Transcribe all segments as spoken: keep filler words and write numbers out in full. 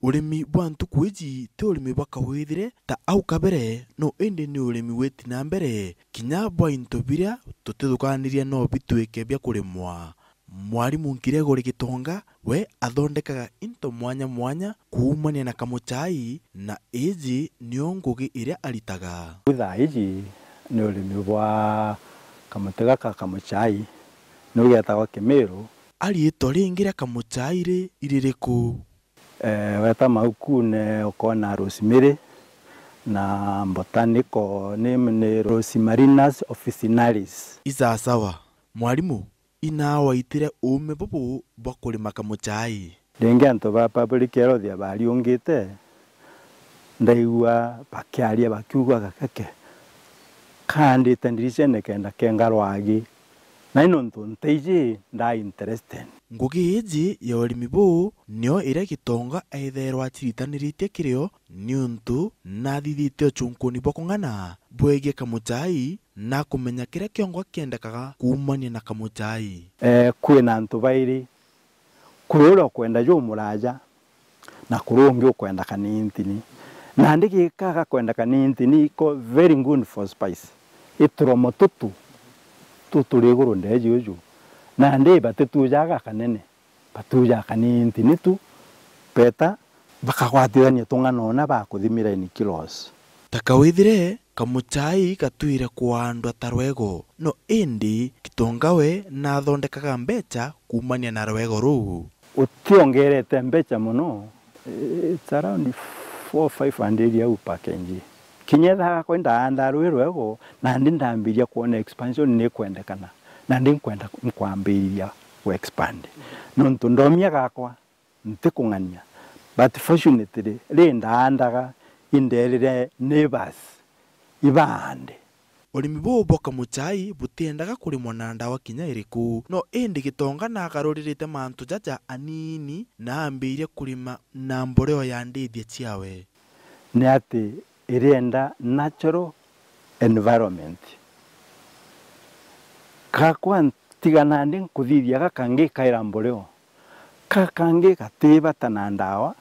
Urimi bwa ntuku iji ti urimi bwa kawithire ta au kabere, no indi ni urimi witi na mbere, kinya bwa into biria tutithukaniria no bitwike bia kurimwa. Mwarimu Gregory Gitonga, we athondekaga into mwanya mwanya kuumania na kamuchai, na iji nio ngugi iria aritaga. Riu thaa iji ni urimi bwa kamuti gaka ka kamuchai, niu getagwa kimiru. A riitwa ringi ria kamuchai ri iririku? Eh, weta maukune ukoona rosemary na botanical name ni Rosmarinus officinalis. Isasawa, mwarimu, inaa waitire uume bubu bwa kurima kamuchai? Ringi antu ba public health bariungite, ndaigua bakiaria bakiuga gakeke kaandite ndiricene kenda kenga rwagi. Na ni nontu nteiji ndaa interested. Ngugi iji ya urimi buu nio iria Gitonga eethairwa aciritaniritie kirio, niuntu naathithitie uchunkuni bwa kung'ana bwegie kamuchai na kumenya kiria kiongo kiendekaga kuumania na kamuchai. Eh, kwina antu bairi, kuri uria ukwenda jumuraja, na kuri ungi ukwenda kanintini. Nandi gika gakwenda kanintini iko very good for spice. Ituromo tutu tuturi iguru ndeji uju. Nandi batitujaga kanene, batujaga kanintini tu, beta bakagwatithania tung'ana una bakuthimira in kilos. Ta kawithire, kamuchai gatwire kwandwa ta rwego, no indi Gitonga we naathondekaga mbecha kuumania na rwego ruu. Utiongerete mbecha mono, it's around four five hundred au per K G. Kinya ethaga kwe ndaanda rwi rwego, nandi ndambiria kwona expansion ni kwendekana, nandi nkwenda nkwambiriria ku expand. Nontu ndomia gakwa, ntikung'ania. But fortunately, ri ndaandaga, inderire neighbors ibaande. Urimi buu bwa kamuchai butiendaga kurimwa na ndawa kinya iriku, no indi Gitonga naagaruririte mantu jaja anini na aambiiria kurima na mboreo ya ndithia ciawe. Ni ati irienda natural environment. Gakwa ntiga nandi nkuthithia gaka ngikaira mboreo. Ka kangi gati bata na ndawa,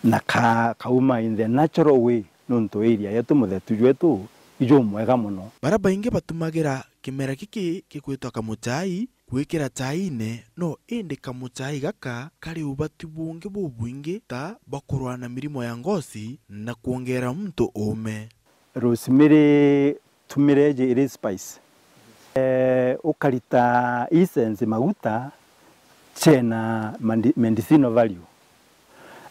na ka-, kauma in the natural way, nontu area yetu, muthetu jwetu, ijumwega mono. Baria baingi batumagira kimera giki gigwitwa kamuchai gwikira chaine, no indi kamuchai gaka kari ubati bungi bubwingi ta bwa kurwaa na mirimo ya ngosi na kwongera muntu uume. Rosemary tumire iji iri spice. Eh, ukarita essence, maguta, chena mandi-, medicinal value.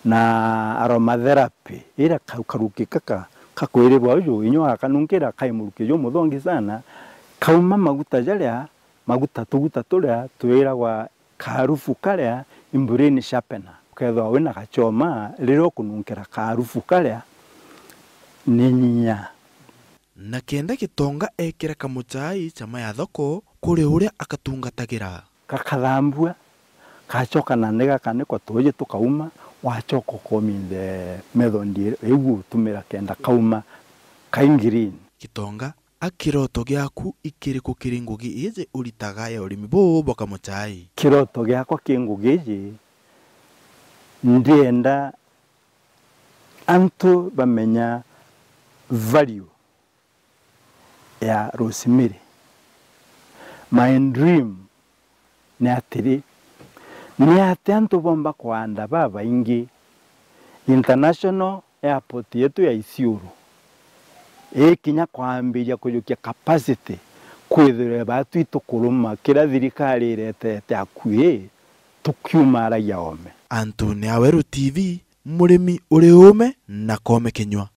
Na aromatherapy, ira ka-, karuki kaka kakwirirwa uju, inya wakanunkira kai muruki jumuthongi sana, kauma maguta jaria, maguta, tuguta turia twiragwa karufu karia i brain sharpener. Ukethirwa wina gachoma, riria ukununkira karufu karia, ni nyinya. Na kenda Gitonga ekira kamuchai chama ya thoko kuri uria akatungatagira. Gakathambua, gachoka nandi gakanikwa tuuji tukauma, wachoka ukominthe method iu utumira kenda kauma kai green. Gitonga, a kiroto giaku ikiriku kiri ngugi iji uritaga ya urimi buu bwa kamuchai? Kiroto giakwa ki ngugi iji, ndienda antu bamenya value ya rosemary. My dream ni atiri, ni atia antu bomba kwanda babaingi, international airport yetu ya Isiolo ikinya kwambiria kujukia capacity, kwithirwe baatu itukuruma kiria thirikari iretete akui, tukiumaragia oome. Antu ni Aweru T V, murimi uri uume na koome kinyua.